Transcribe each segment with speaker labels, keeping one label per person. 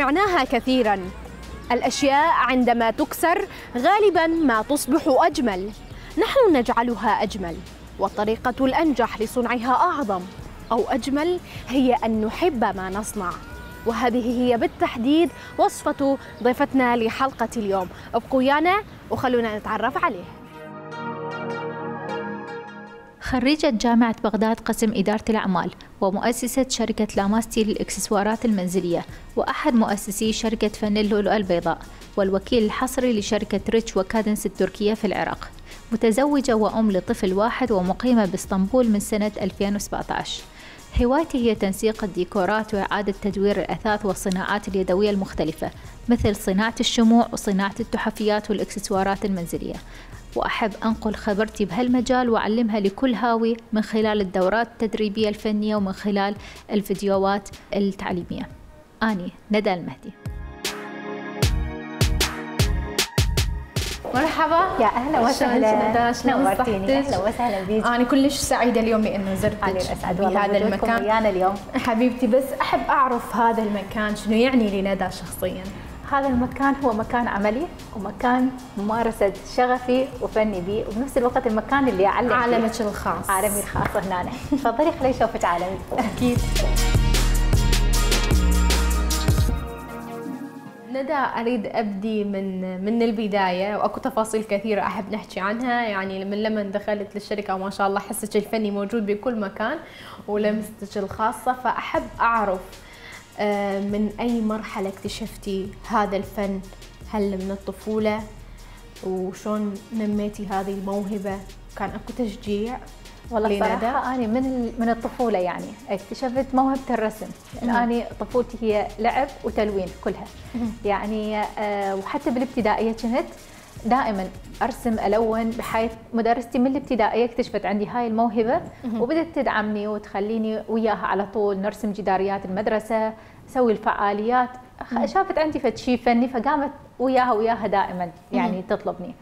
Speaker 1: سمعناها كثيراً، الأشياء عندما تكسر غالباً ما تصبح أجمل. نحن نجعلها أجمل، والطريقة الأنجح لصنعها أعظم أو أجمل هي أن نحب ما نصنع. وهذه هي بالتحديد وصفة ضيفتنا لحلقة اليوم. ابقوا ويانا وخلونا نتعرف عليه.
Speaker 2: خريجة جامعة بغداد قسم إدارة الأعمال، ومؤسسة شركة لاماستي للإكسسوارات المنزلية، وأحد مؤسسي شركة فن اللؤلؤة البيضاء، والوكيل الحصري لشركة ريتش وكادنس التركية في العراق. متزوجة وأم لطفل واحد، ومقيمة باسطنبول من سنة 2017. هوايتي هي تنسيق الديكورات وإعادة تدوير الأثاث والصناعات اليدوية المختلفة، مثل صناعة الشموع وصناعة التحفيات والإكسسوارات المنزلية. وأحب أنقل خبرتي بهالمجال وأعلمها لكل هاوي من خلال الدورات التدريبية الفنية ومن خلال الفيديوهات التعليمية. أني ندى المهدي.
Speaker 1: مرحبا،
Speaker 3: يا اهلا وسهلا،
Speaker 1: نورتيني.
Speaker 3: اهلا وسهلا بيك.
Speaker 1: انا كلش سعيده اليوم لانه زرتك بهذا المكان
Speaker 3: ويانا اليوم
Speaker 1: حبيبتي. بس احب اعرف هذا المكان شنو يعني لندى شخصيا.
Speaker 3: هذا المكان هو مكان عملي ومكان ممارسه شغفي وفني بي، وبنفس الوقت المكان اللي اعلم
Speaker 1: عالمك الخاص.
Speaker 3: عالمي الخاص هنا. تفضلي خليني اشوفك عالمي.
Speaker 1: اكيد. ندى، أريد أبدي من البداية، وأكو تفاصيل كثيرة أحب نحكي عنها. يعني من لما دخلت للشركة وما شاء الله حسك الفني موجود بكل مكان ولمستك الخاصة، فأحب أعرف من أي مرحلة اكتشفتي هذا الفن؟ هل من الطفولة؟ وشون نميتي هذه الموهبة؟ كان أكو تشجيع؟
Speaker 3: والله صراحة أنا من الطفولة يعني اكتشفت موهبة الرسم. أنا طفولتي هي لعب وتلوين كلها يعني. وحتى بالابتدائية كنت دائما أرسم ألون، بحيث مدرستي من الابتدائية اكتشفت عندي هاي الموهبة وبدت تدعمني وتخليني وياها على طول نرسم جداريات المدرسة، نسوي الفعاليات. شافت عندي فد شيء فني فقامت وياها دائما يعني تطلبني.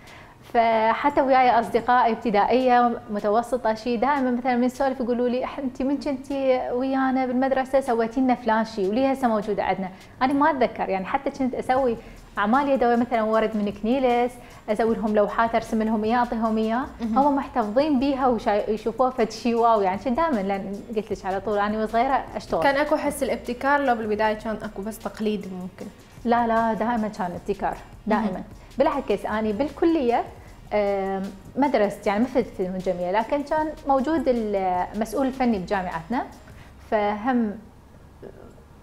Speaker 3: فحتى وياي اصدقائي ابتدائيه متوسطه شيء دائما مثلا من نسولف يقولوا لي انت من كنتي ويانا بالمدرسه سويتي لنا فلان شيء وليه هسه موجوده عندنا. انا ما اتذكر يعني، حتى كنت اسوي اعمال يدويه مثلا ورد من كنيلس، اسوي لهم لوحات ارسم لهم اياه اعطيهم اياه، هم محتفظين بيها ويشوفوها فد شيء واو يعني. كنت دائما لان قلت لك على طول انا وصغيره اشتغل.
Speaker 1: كان اكو حس الابتكار لو بالبدايه كان اكو بس تقليد ممكن؟
Speaker 3: لا دائما كان ابتكار دائما. بالعكس اني بالكليه مدرستي يعني مثل فنون جميله، لكن كان موجود المسؤول الفني بجامعتنا فهم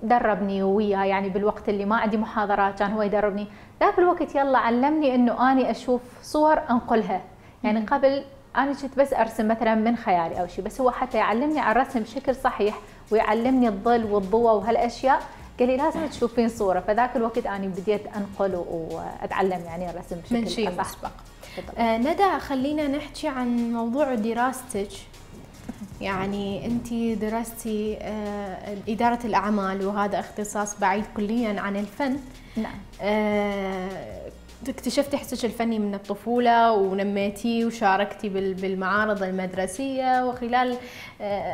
Speaker 3: دربني وياه يعني بالوقت اللي ما عندي محاضرات كان هو يدربني. ذاك الوقت يلا علمني انه اني اشوف صور انقلها. يعني قبل انا كنت بس ارسم مثلا من خيالي او شيء، بس هو حتى يعلمني على الرسم بشكل صحيح ويعلمني الظل والضوء وهالاشياء، قال لي لازم تشوفين صوره. فذاك الوقت انا بديت انقل واتعلم يعني الرسم بشكل
Speaker 1: من شيء مسبق. ندى، خلينا نحكي عن موضوع دراستك. يعني انت درستي إدارة الأعمال وهذا اختصاص بعيد كليا عن الفن.
Speaker 3: نعم.
Speaker 1: اكتشفتي حسك الفني من الطفولة ونميتي وشاركتي بالمعارض المدرسية، وخلال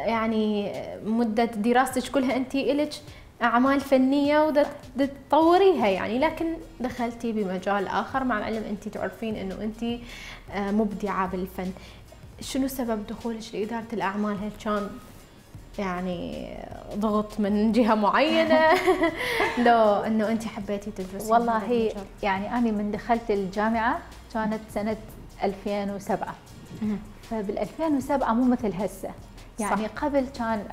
Speaker 1: يعني مدة دراستك كلها انت إلك أعمال فنية وتطوريها يعني، لكن دخلتي بمجال آخر مع العلم أنت تعرفين أنه أنت مبدعة بالفن. شنو سبب دخولك لإدارة الأعمال؟ هل كان يعني ضغط من جهة معينة لو أنه أنت حبيتي تدرسي؟
Speaker 3: والله يعني أنا من دخلت الجامعة كانت سنة 2007. فبال 2007 مو مثل هسه يعني. صح. قبل كان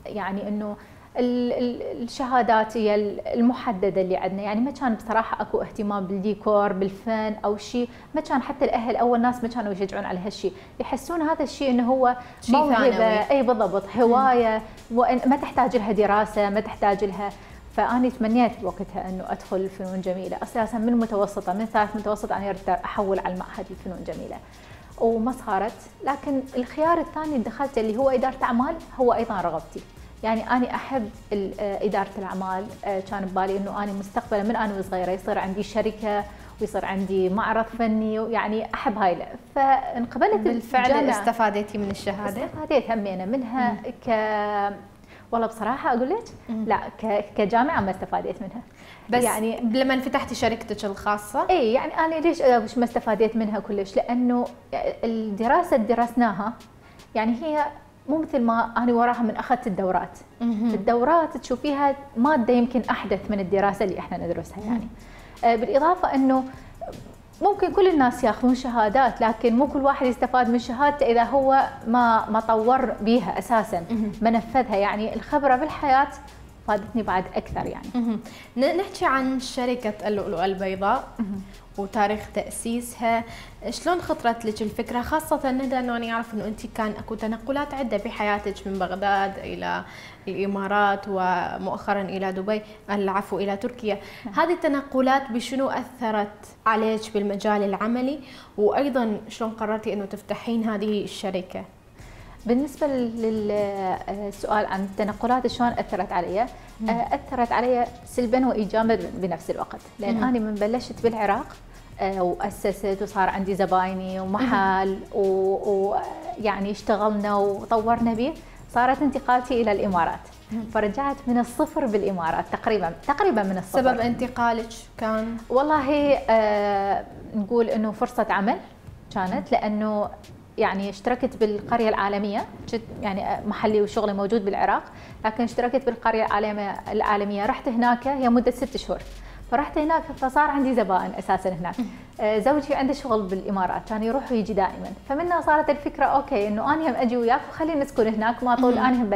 Speaker 3: يعني أنه الشهادات هي المحدده اللي عندنا يعني. ما كان بصراحه اكو اهتمام بالديكور بالفن او شيء. ما كان حتى الاهل اول ناس ما كانوا يشجعون على هالشيء، يحسون هذا الشيء انه هو موهبه. اي بالضبط، هوايه ما تحتاج لها دراسه ما تحتاج لها. فاني تمنيت بوقتها انه ادخل الفنون جميله. اساسا من متوسطه من ثالث متوسط انا ردت احول على المعهد الفنون جميله وما صارت. لكن الخيار الثاني اللي دخلته اللي هو اداره اعمال هو ايضا رغبتي. يعني أنا أحب إدارة الأعمال. كان ببالي إنه أنا مستقبلا من أنا وصغيرة يصير عندي شركة ويصير عندي معرض فني، يعني أحب هاي. فانقبلت
Speaker 1: بالفعل. استفادتي من الشهادة؟
Speaker 3: استفاديت همينة منها والله بصراحه اقول لك لا، كجامعه ما استفادت منها.
Speaker 1: بس يعني لما فتحتي شركتك الخاصه
Speaker 3: اي يعني انا ليش ما استفادت منها كلش؟ لانه الدراسه اللي درسناها يعني هي مو مثل ما انا وراها من اخذت الدورات. الدورات تشوفيها ماده يمكن احدث من الدراسه اللي احنا ندرسها يعني. بالاضافه انه ممكن كل الناس ياخذون شهادات، لكن مو كل واحد يستفاد من شهادته اذا هو ما طور بيها اساسا، ما نفذها. يعني الخبره بالحياه فادتني بعد اكثر يعني.
Speaker 1: نحكي عن شركه اللؤلؤه البيضاء وتاريخ تاسيسها. شلون خطرت لك الفكره، خاصه ندى انه انا اعرف انه انت كان اكو تنقلات عده بحياتك من بغداد الى الامارات ومؤخرا الى دبي، العفو الى تركيا. هذه التنقلات بشنو اثرت عليك بالمجال العملي، وايضا شلون قررتي انه تفتحين هذه الشركه؟
Speaker 3: بالنسبه للسؤال عن التنقلات شلون اثرت علي، اثرت علي سلبا وايجابا بنفس الوقت، لان انا من بلشت بالعراق واسست وصار عندي زبايني ومحل ويعني اشتغلنا وطورنا به، صارت انتقالتي الى الامارات. فرجعت من الصفر بالامارات تقريبا من الصفر.
Speaker 1: سبب انتقالك كان؟
Speaker 3: والله نقول انه فرصه عمل كانت، لانه يعني اشتركت بالقرية العالمية، يعني محلي وشغلي موجود بالعراق، لكن اشتركت بالقرية العالمية. رحت هناك هي مدة 6 شهور، فرحت هناك فصار عندي زبائن اساسا هناك. زوجي عنده شغل بالامارات، كان يروح ويجي دائما، فمنها صارت الفكرة اوكي انه انا هم اجي وياك وخلينا نسكن هناك، ما طول انا هم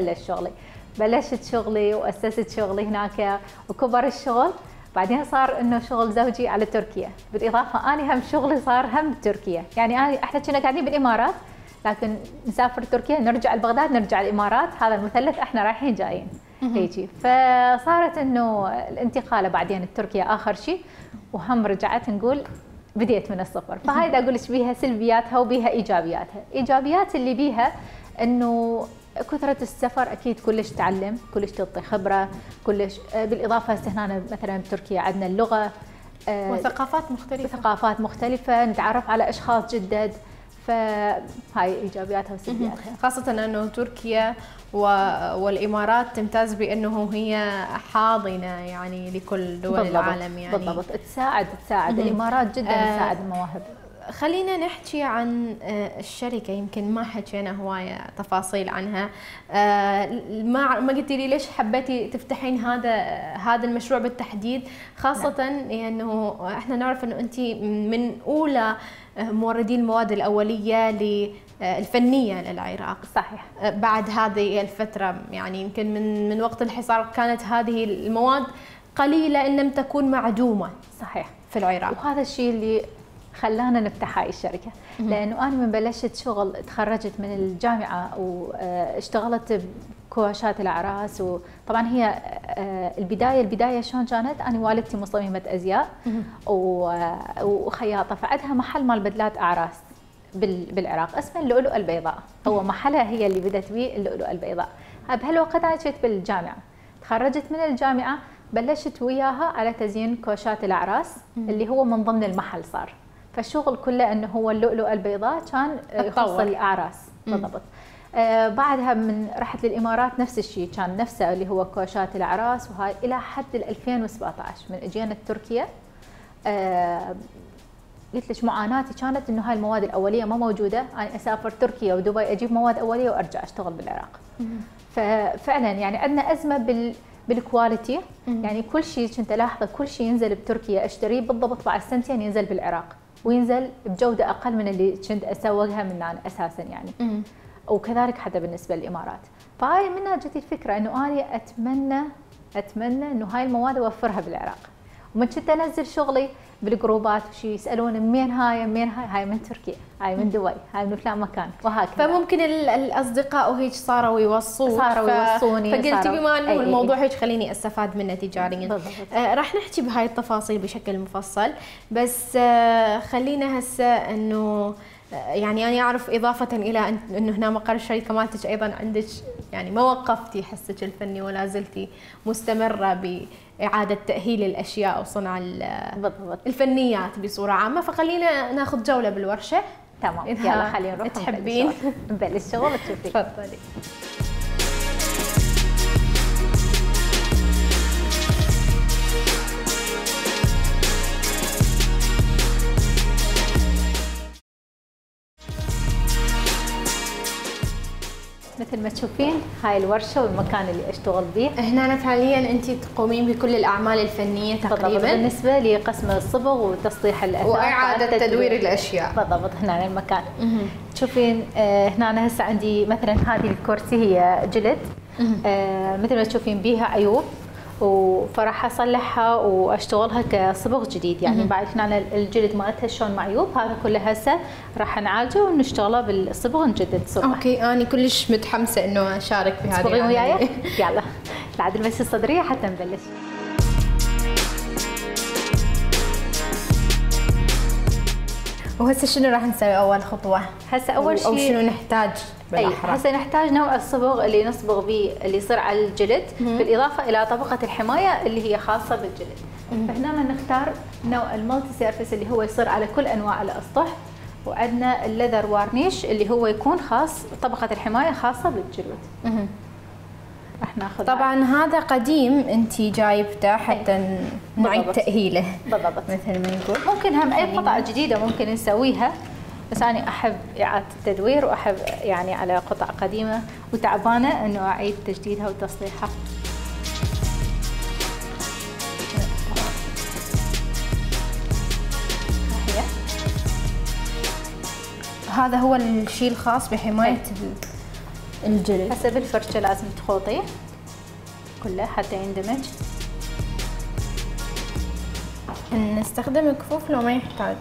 Speaker 3: بلشت شغلي واسست شغلي هناك وكبر الشغل. بعدين صار انه شغل زوجي على تركيا، بالاضافه انا هم شغلي صار هم بتركيا. يعني احنا كنا قاعدين بالامارات، لكن نسافر تركيا نرجع لبغداد نرجع الامارات، هذا المثلث احنا رايحين جايين هيجي. فصارت انه الانتقاله بعدين لتركيا اخر شيء، وهم رجعت نقول بديت من الصفر. فهاي اقول لك بيها سلبياتها وبيها ايجابياتها. ايجابيات اللي بيها انه كثرة السفر أكيد كلش تعلم، كلش تعطي خبرة، كلش. بالإضافة هنا مثلا بتركيا عندنا اللغة
Speaker 1: وثقافات
Speaker 3: مختلفة، نتعرف على أشخاص جدد. فهاي إيجابياتها وسلبياتها.
Speaker 1: خاصة أنه تركيا والإمارات تمتاز بأنه هي حاضنة يعني لكل دول العالم يعني.
Speaker 3: بالضبط، تساعد الإمارات جدا تساعد المواهب.
Speaker 1: خلينا نحكي عن الشركة، يمكن ما حكينا هواية تفاصيل عنها. ما قلتي لي ليش حبيتي تفتحين هذا المشروع بالتحديد، خاصة انه احنا نعرف انه انت من اولى موردي المواد الأولية الفنية للعراق.
Speaker 3: صحيح.
Speaker 1: بعد هذه الفترة يعني يمكن من وقت الحصار كانت هذه المواد قليلة إن لم تكون معدومة.
Speaker 3: صحيح.
Speaker 1: في العراق.
Speaker 3: وهذا الشيء اللي خلانا نفتح هاي الشركة، لأنه أنا من بلشت شغل تخرجت من الجامعة واشتغلت بكواشات الأعراس. وطبعا هي البداية شلون كانت، أنا والدتي مصممة أزياء وخياطة، فعندها محل مال بدلات أعراس بالعراق اسمه اللؤلؤة البيضاء. هو محلها هي اللي بدت به اللؤلؤة البيضاء. بهالوقت أنا كنت بالجامعة، تخرجت من الجامعة بلشت وياها على تزيين كواشات الأعراس اللي هو من ضمن المحل صار. فالشغل كله انه هو اللؤلؤة البيضاء كان يخص الاعراس. بالضبط. بعدها من رحت للامارات نفس الشيء، كان نفسه اللي هو كوشات الاعراس، وهاي الى حد 2017 من اجينا تركيا. قلت لك معاناتي كانت انه هاي المواد الاوليه ما موجوده، انا اسافر تركيا ودبي اجيب مواد اوليه وارجع اشتغل بالعراق. ففعلا يعني عندنا ازمه بالكواليتي. يعني كل شيء كنت الاحظه، كل شيء ينزل بتركيا اشتريه بالضبط بعد سنتين ينزل بالعراق، وينزل بجوده اقل من اللي كنت اسوقها من أنا اساسا يعني. وكذلك حتى بالنسبه للامارات. فهاي منها جت الفكره انه انا اتمنى انه هاي المواد اوفرها بالعراق. ومن كنت انزل شغلي بالجروبات وشي يسالون منين هاي من تركيا، هاي من دبي، هاي من فلان مكان، وهكذا.
Speaker 1: فممكن الاصدقاء وهيك صاروا يوصوني، فقلتي بما انه الموضوع هيك خليني استفاد منه تجاريا. راح نحكي بهاي التفاصيل بشكل مفصل، بس خلينا هسه انه يعني انا اعرف اضافه الى انه هنا مقر الشركه مالتك ايضا عندك يعني ما وقفتي حسك الفني ولا زلتي مستمره باعاده تاهيل الاشياء وصنع الفنيات بصوره عامه. فخلينا ناخذ جوله بالورشه.
Speaker 3: تمام، يلا خلينا نروح
Speaker 1: تحبين
Speaker 3: نبلش شغل تشوفي.
Speaker 1: تفضلي.
Speaker 3: مثل ما تشوفين هاي الورشه والمكان اللي اشتغل به.
Speaker 1: هنا فعليا انت تقومين بكل الاعمال الفنيه تقريبا
Speaker 3: بالنسبه لقسم الصبغ وتصليح الاثاث
Speaker 1: واعاده تدوير الاشياء.
Speaker 3: بالضبط هنا المكان. تشوفين هنا هسه عندي مثلا هذه الكرسي هي جلد، مثل ما تشوفين بيها عيوب، فراح اصلحها واشتغلها كصبغ جديد. يعني بعد هنا الجلد مالتها شلون معيوب، هذا كله هسه راح نعالجه ونشتغله بالصبغ نجدد صبغه.
Speaker 1: اوكي انا كلش متحمسه انه اشارك بهذه
Speaker 3: تصبغين وياي؟ يلا نعدل بس الصدريه حتى نبلش.
Speaker 1: وهسه شنو راح نسوي اول خطوه؟
Speaker 3: هسه اول شيء
Speaker 1: او شنو نحتاج بالاحرى؟
Speaker 3: هسه نحتاج نوع الصبغ اللي نصبغ به اللي يصير على الجلد، بالاضافه الى طبقه الحمايه اللي هي خاصه بالجلد. فهنا نختار نوع المالتي سيرفيس اللي هو يصير على كل انواع الاسطح، وعندنا الليذر وارنيش اللي هو يكون خاص طبقه الحمايه خاصه بالجلد. راح ناخذ
Speaker 1: طبعا هذا قديم انت جايبته حتى نعيد تاهيله.
Speaker 3: بالضبط
Speaker 1: مثل ما نقول.
Speaker 3: ممكن هم اي قطعه جديده ممكن نسويها، بس انا احب اعاده التدوير واحب يعني على قطع قديمه وتعبانه انه اعيد تجديدها وتصليحها.
Speaker 1: هذا هو الشيء الخاص بحمايه الجلد.
Speaker 3: هسه بالفرشه لازم تخوطيه كله حتى يندمج.
Speaker 1: نستخدم كفوف لو ما يحتاج؟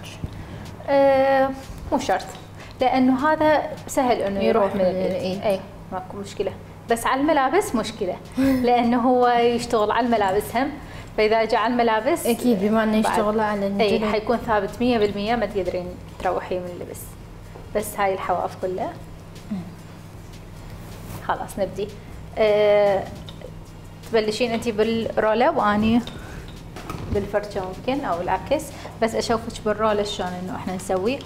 Speaker 3: مو شرط، لانه هذا سهل انه يروح من
Speaker 1: الايد.
Speaker 3: اي ماكو مشكله، بس على الملابس مشكله لانه هو يشتغل على الملابس هم، فاذا جاء على الملابس
Speaker 1: اكيد بما انه يشتغل على الجلد
Speaker 3: اي حيكون ثابت 100% ما تقدرين تروحيه من اللبس. بس هاي الحواف كلها خلاص نبدي. تبلشين انت بالرولة واني بالفرشة ممكن او العكس، بس اشوفك بالرولة شلون انه احنا نسوي.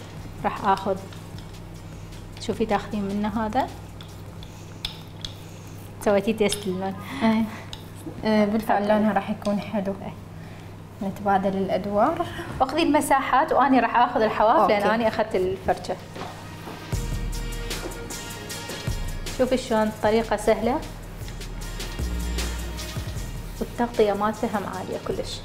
Speaker 3: راح اخذ، شوفي تاخذين منه هذا، سويتي تيست للون.
Speaker 1: بالفعل لونها راح يكون حلو. نتبادل الادوار.
Speaker 3: اخذي المساحات واني راح اخذ الحواف لان اني اخذت الفرشة. شوفي شلون الطريقة سهلة والتغطية مالتها هم عالية كلش.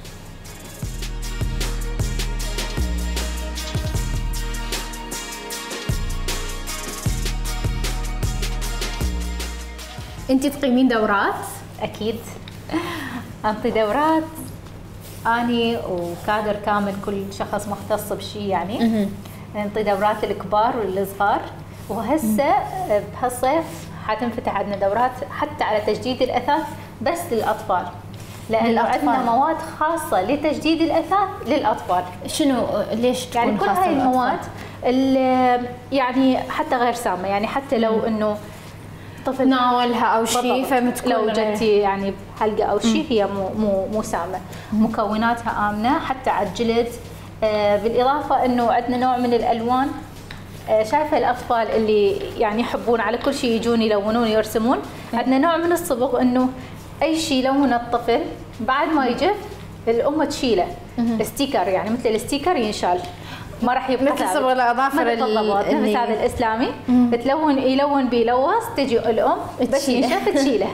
Speaker 1: انتي تقيمين دورات؟
Speaker 3: اكيد انطي دورات اني وكادر كامل، كل شخص مختص بشيء يعني. نعطي دورات للكبار والصغار، وهسه بهالصيف حتنفتح عندنا دورات حتى على تجديد الاثاث بس للاطفال، لانه عندنا مواد خاصه لتجديد الاثاث للاطفال.
Speaker 1: شنو ليش تكون
Speaker 3: يعني كل هاي المواد يعني حتى غير سامه، يعني حتى لو انه طفل
Speaker 1: ناولها او شيء فمتكون
Speaker 3: لو جتي يعني بحلقه او شيء هي مو سامه. مكوناتها امنه حتى على الجلد. بالاضافه انه عندنا نوع من الالوان. شايفه الاطفال اللي يعني يحبون على كل شيء يجون يلونون يرسمون، عندنا نوع من الصبغ انه اي شيء يلون الطفل بعد ما يجف الام تشيله، ستيكر يعني مثل الستيكر ينشال، ما راح يبقى
Speaker 1: مثل صبغ الاظافر
Speaker 3: نفس هذا الاسلامي. يلون بيلوص تجي الام بس ينشف تشيله.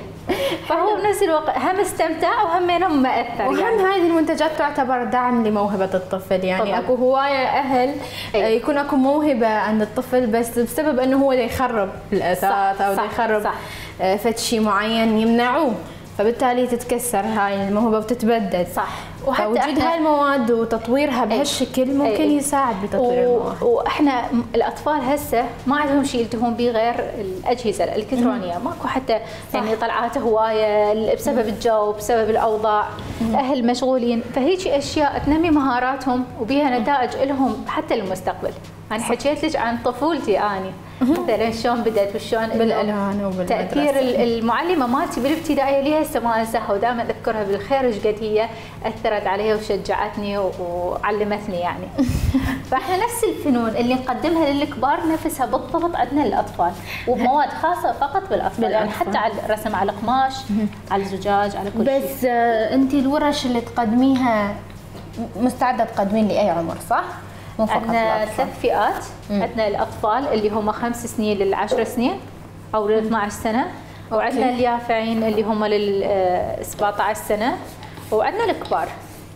Speaker 3: فهو بنفس الوقت هم استمتع وهم مأثر.
Speaker 1: وهم
Speaker 3: يعني
Speaker 1: هذه المنتجات تعتبر دعم لموهبة الطفل، يعني طبعا. اكو هواية اهل يكون اكو موهبة عند الطفل بس بسبب انه هو يخرب الاثاث او يخرب فد شيء معين يمنعوه، فبالتالي تتكسر هاي الموهبة وتتبدد.
Speaker 3: صح.
Speaker 1: ووجود هاي المواد وتطويرها بهالشكل ممكن يساعد بتطوير المواهب.
Speaker 3: واحنا الاطفال هسه ما عندهم شيء يلتهون به غير الاجهزه الالكترونيه، ماكو حتى يعني طلعات هوايه بسبب الجو بسبب الاوضاع. الاهل مشغولين، فهيك اشياء تنمي مهاراتهم وبيها نتائج لهم حتى للمستقبل. انا حكيت لك عن طفولتي اني مثلا شلون بدات وشلون
Speaker 1: بالالوان وبالمدرسه.
Speaker 3: تاثير المعلمه مالتي بالابتدائيه لي هسه ما انساها، ودائما اذكرها بالخير ايش قد هي اثرت علي وشجعتني وعلمتني يعني. فاحنا نفس الفنون اللي نقدمها للكبار نفسها بالضبط عندنا للاطفال، وبمواد خاصه فقط بالاطفال. يعني حتى على الرسم على القماش، على الزجاج، على كل شيء.
Speaker 1: بس انت الورش اللي تقدميها مستعده تقدمين لاي عمر صح؟
Speaker 3: عندنا 3 فئات. عندنا الاطفال اللي هم 5 سنين ل10 سنين، او ل 12 سنه، وعندنا اليافعين اللي هم لل 17 سنه، وعندنا الكبار.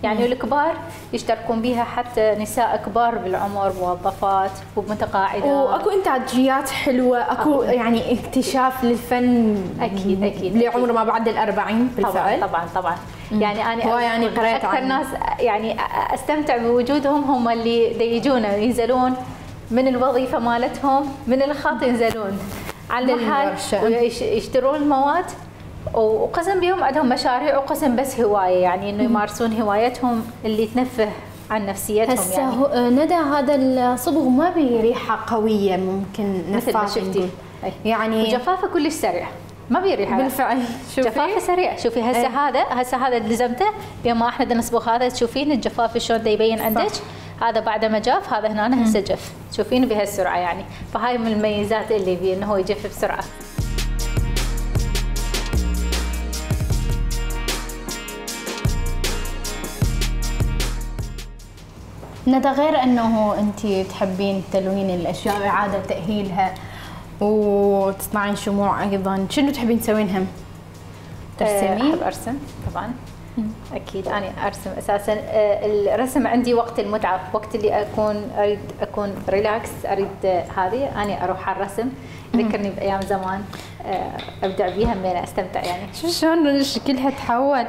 Speaker 3: يعني الكبار يشتركون بها حتى نساء كبار بالعمر، موظفات ومتقاعدات.
Speaker 1: واكو انتاجيات حلوه، اكو يعني اكتشاف للفن
Speaker 3: اكيد
Speaker 1: لعمر ما بعد ال40 بالفعل.
Speaker 3: طبعا يعني انا
Speaker 1: يعني قريت
Speaker 3: اكثر ناس يعني استمتع بوجودهم هم اللي يجون ينزلون من الوظيفه مالتهم، من الخط ينزلون على المحل ويشترون المواد، وقسم بيهم عندهم مشاريع، وقسم بس هوايه، يعني انه يمارسون هوايتهم اللي تنفه عن نفسيتهم.
Speaker 1: هسه
Speaker 3: يعني
Speaker 1: ندى هذا الصبغ ما بريحه قويه، ممكن
Speaker 3: مثل ما شفتي
Speaker 1: يعني
Speaker 3: وجفافه كلش سريع، ما بيريحه
Speaker 1: بالفعل.
Speaker 3: جفافه سريع. شوفي هسه هذا اللي لزمته بما احنا نصبغ هذا، تشوفين الجفاف شلون يبين عندك. هذا بعد ما جاف، هذا هنا هسه جف، تشوفين بهالسرعه يعني. فهاي من المميزات اللي بيه انه هو يجف بسرعه.
Speaker 1: ندى، غير انه انت تحبين تلوين الاشياء واعاده تاهيلها وتصنعين شموع، ايضا شنو تحبين تسوين هم؟ ترسمين؟
Speaker 3: احب ارسم طبعا. اكيد انا ارسم اساسا. الرسم عندي وقت المتعه، وقت اللي اريد اكون ريلاكس، اريد هذه اني اروح على الرسم، يذكرني بايام زمان، ابدع بيها همين استمتع يعني.
Speaker 1: شلون شكلها تحول؟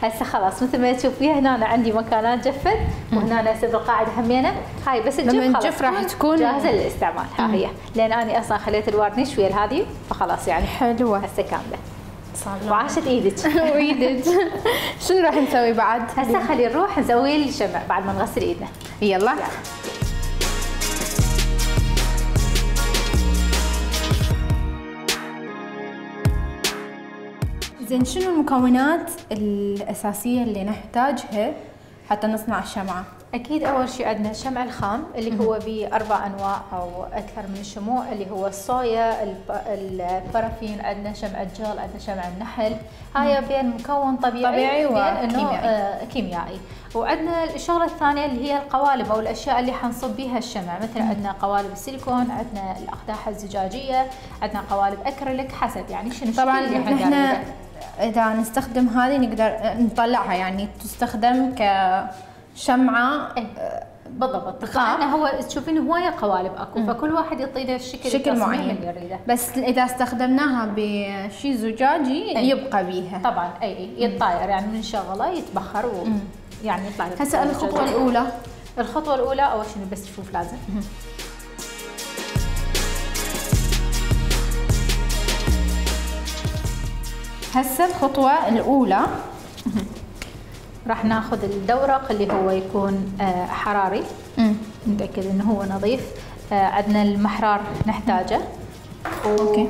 Speaker 3: هسه خلاص مثل ما تشوفيها هنا أنا عندي مكانات جفت، وهنا هسه بالقاعده همينه، هاي بس
Speaker 1: لما
Speaker 3: تجف
Speaker 1: راح تكون
Speaker 3: جاهزه للاستعمال. ها هي، لان انا اصلا خليت الوارنيش ويا هذه، فخلاص يعني
Speaker 1: حلوه
Speaker 3: هسه كامله. وعاشت ايدك
Speaker 1: وايدك. شنو راح نسوي بعد؟
Speaker 3: هسه خلي نروح نسوي الشمع بعد ما نغسل ايدنا.
Speaker 1: يلا. زين، شنو المكونات الأساسية اللي نحتاجها حتى نصنع الشمعة؟
Speaker 3: أكيد أول شيء عندنا الشمع الخام اللي هو ب4 أنواع أو أكثر من الشموع، اللي هو الصويا، البارافين، عندنا شمع الجل، عندنا شمع النحل. هاي بين مكون طبيعي وكيميائي. كيميائي. وعندنا الشغلة الثانية اللي هي القوالب أو الأشياء اللي حنصب بيها الشمع، مثل عندنا قوالب السيليكون، عندنا الأقداح الزجاجية، عندنا قوالب أكريليك، حسب يعني شنو
Speaker 1: طبعا
Speaker 3: اللي
Speaker 1: احنا إذا نستخدم هذه نقدر نطلعها، يعني تستخدم كشمعة.
Speaker 3: بالضبط. طبعا هو تشوفين هوايه قوالب اكو، فكل واحد يعطينا
Speaker 1: شكل معين
Speaker 3: اللي يريده.
Speaker 1: بس اذا استخدمناها بشيء زجاجي يبقى بيها
Speaker 3: طبعا يتطاير، يعني من شغله يتبخر يعني يطلع لك.
Speaker 1: هسه الخطوه الاولى.
Speaker 3: الخطوه الاولى اول شيء بس تشوف لازم
Speaker 1: هسه الخطوه الاولى
Speaker 3: راح ناخذ الدورق اللي هو يكون حراري، نتاكد انه هو نظيف. عندنا المحرار نحتاجه،
Speaker 1: اوكي،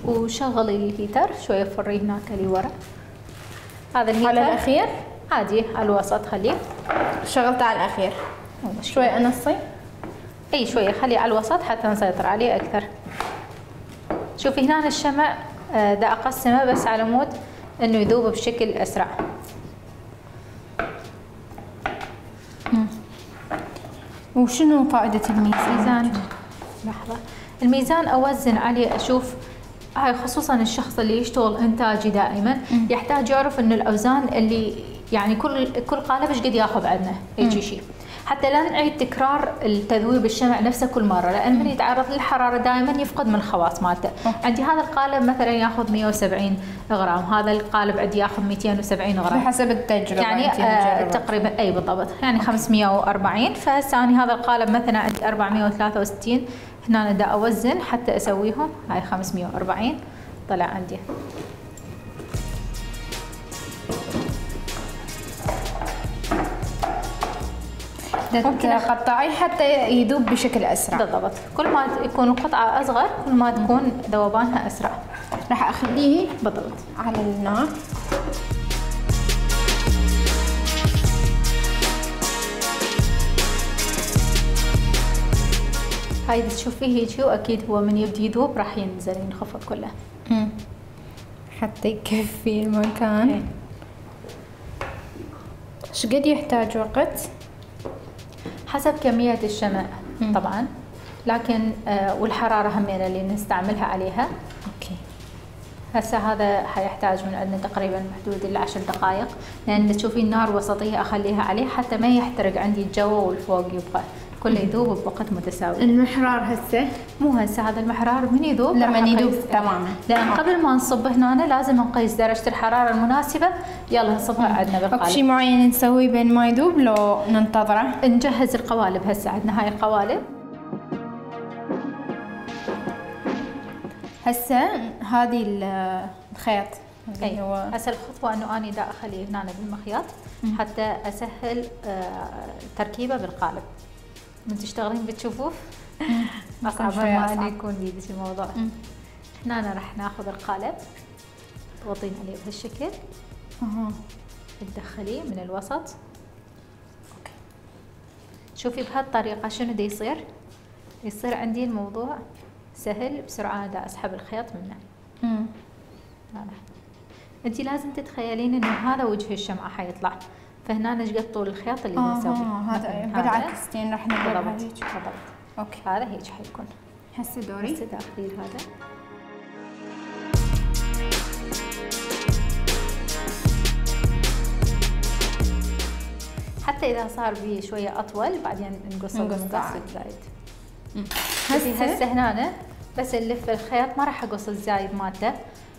Speaker 3: وشغلي الهيتر شويه، فريه هناك اللي ورا. هذا الهيتر
Speaker 1: على الاخير
Speaker 3: عادي، على الوسط خليه.
Speaker 1: شغلته على الاخير شوي انصي،
Speaker 3: اي شويه خليه على الوسط حتى نسيطر عليه اكثر. شوفي هنا الشمع دا اقسمه بس على مود انه يذوب بشكل اسرع.
Speaker 1: وشنو فائدة الميزان؟
Speaker 3: لحظة، الميزان اوزن عليه، اشوف هاي خصوصا الشخص اللي يشتغل انتاجي دائما يحتاج يعرف انه الاوزان اللي يعني كل قالب ايش قد ياخذ عندنا هيك شيء، حتى لا نعيد تكرار التذويب الشمع نفسه كل مره، لان من يتعرض للحراره دائما يفقد من الخواص مالته. عندي هذا القالب مثلا ياخذ 170 غرام، هذا القالب عندي ياخذ 270 غرام
Speaker 1: بحسب التجربه
Speaker 3: يعني تقريبا اي بالضبط، يعني 540. فهسه انا هذا القالب مثلا عندي 463، هنا دا اوزن حتى اسويهم. هاي 540 طلع عندي.
Speaker 1: ممكن قطعيه حتى يذوب بشكل اسرع.
Speaker 3: بالضبط، كل ما يكون القطعه اصغر كل ما تكون ذوبانها اسرع.
Speaker 1: راح اخليه
Speaker 3: بالضبط
Speaker 1: على النار.
Speaker 3: هاي تشوفيه هيك، واكيد هو من يبدي يذوب راح ينزل ينخفض كله
Speaker 1: حتى يكفي المكان. ايش قد يحتاج وقت؟
Speaker 3: حسب كمية الشمع طبعا، لكن والحرارة همين اللي نستعملها عليها. هسه هذا حيحتاج من عندنا تقريبا بحدود ال10 دقائق، لان تشوفين النار وسطيه اخليها عليه حتى ما يحترق عندي الجو والفوق، يبقى كله يذوب بوقت متساوي.
Speaker 1: المحرار هسه
Speaker 3: مو هسه، هذا المحرار من يذوب
Speaker 1: لما يذوب تماما،
Speaker 3: لان قبل ما نصب هنا لازم نقيس درجه الحراره المناسبه. يلا نصبها عندنا بالقالب.
Speaker 1: اكو شيء معين نسويه بين ما يذوب لو ننتظره؟
Speaker 3: نجهز القوالب. هسه عندنا هاي القوالب.
Speaker 1: هسه هذه الخيط
Speaker 3: اي هو هسه الخطوه انه اني دا اخليه هنا بالمخيط حتى اسهل تركيبه بالقالب. من تشتغلين بتشوفوه اصعب ما انه يكون بيدك الموضوع. هنا راح ناخذ القالب تضغطين عليه بهالشكل. تدخليه من الوسط. اوكي. شوفي بهالطريقه شنو دا يصير عندي الموضوع سهل بسرعه. انا دا اسحب الخيط منه. انت لازم تتخيلين انه هذا وجه الشمعه حيطلع، فهنا نشقد طول الخيط اللي نسويه.
Speaker 1: هذا بالعكس راح نضربها
Speaker 3: بالضبط.
Speaker 1: اوكي.
Speaker 3: هذا هيك حيكون.
Speaker 1: هسه دوري.
Speaker 3: هسه داخلين هذا. حتى اذا صار بيه شويه اطول بعدين نقصه الزايد. هسه هنا بس نلف الخيط، ما راح اقص الزايد مالته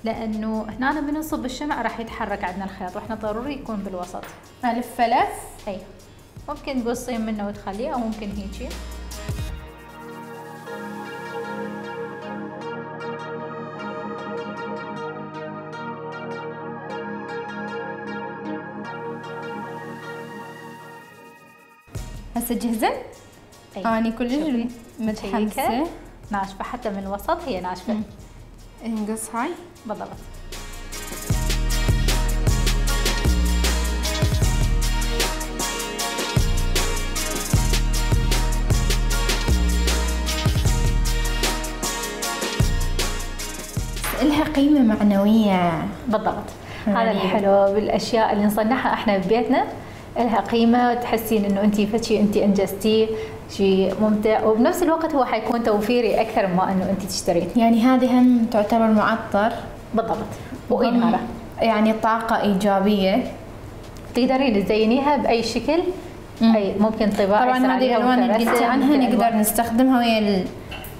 Speaker 3: لانه هنا من نصب الشمع راح يتحرك عندنا الخيط، واحنا ضروري يكون بالوسط.
Speaker 1: الف لف.
Speaker 3: اي ممكن تقصين منه وتخليه، او ممكن هيجي.
Speaker 1: هسه جهزت؟ اني كلش متحمسه.
Speaker 3: ناشفه حتى من الوسط، هي ناشفه.
Speaker 1: نقص هاي
Speaker 3: بالضبط.
Speaker 1: لها قيمه معنويه.
Speaker 3: بالضبط. هذا الحلو بالاشياء اللي نصنعها احنا ببيتنا، لها قيمه، تحسين انه انت فشي انت انجزتيه شيء ممتع، وبنفس الوقت هو حيكون توفيري اكثر ما انه انت تشترين.
Speaker 1: يعني هذه هم تعتبر معطر.
Speaker 3: بالضبط. وإنارة،
Speaker 1: يعني طاقه ايجابيه.
Speaker 3: تقدرين تزينيها باي شكل. اي ممكن طباعه.
Speaker 1: طبعا هذه الالوان اللي قلتي عنها نقدر نستخدمها ويا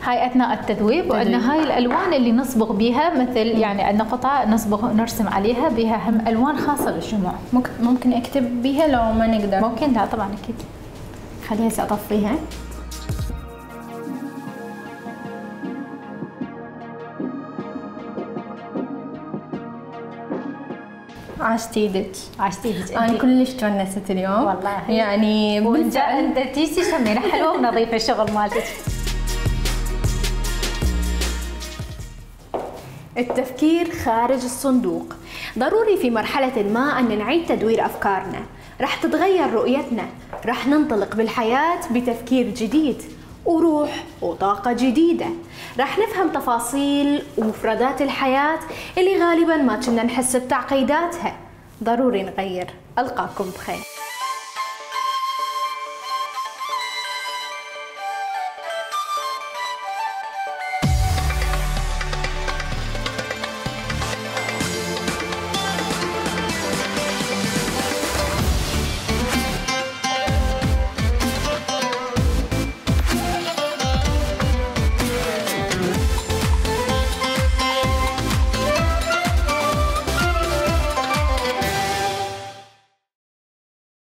Speaker 3: هاي اثناء التذويب. وعندنا هاي الالوان اللي نصبغ بيها، مثل يعني عندنا قطع نصبغ نرسم عليها بها هم الوان خاصه للشموع.
Speaker 1: ممكن اكتب بيها لو ما نقدر؟
Speaker 3: ممكن. لا طبعا اكيد.
Speaker 1: خليها هسه اطفيها. عاشتي ايدك.
Speaker 3: عاشتي ايدك.
Speaker 1: انا كلش تونست اليوم
Speaker 3: والله.
Speaker 1: يعني
Speaker 3: انت تيجي تشمين حلوه ونظيفه الشغل مالتك.
Speaker 1: التفكير خارج الصندوق ضروري في مرحلة ما أن نعيد تدوير أفكارنا. رح تتغير رؤيتنا، رح ننطلق بالحياة بتفكير جديد وروح وطاقة جديدة. رح نفهم تفاصيل ومفردات الحياة اللي غالبا ما كنا نحس بتعقيداتها. ضروري نغير. ألقاكم بخير.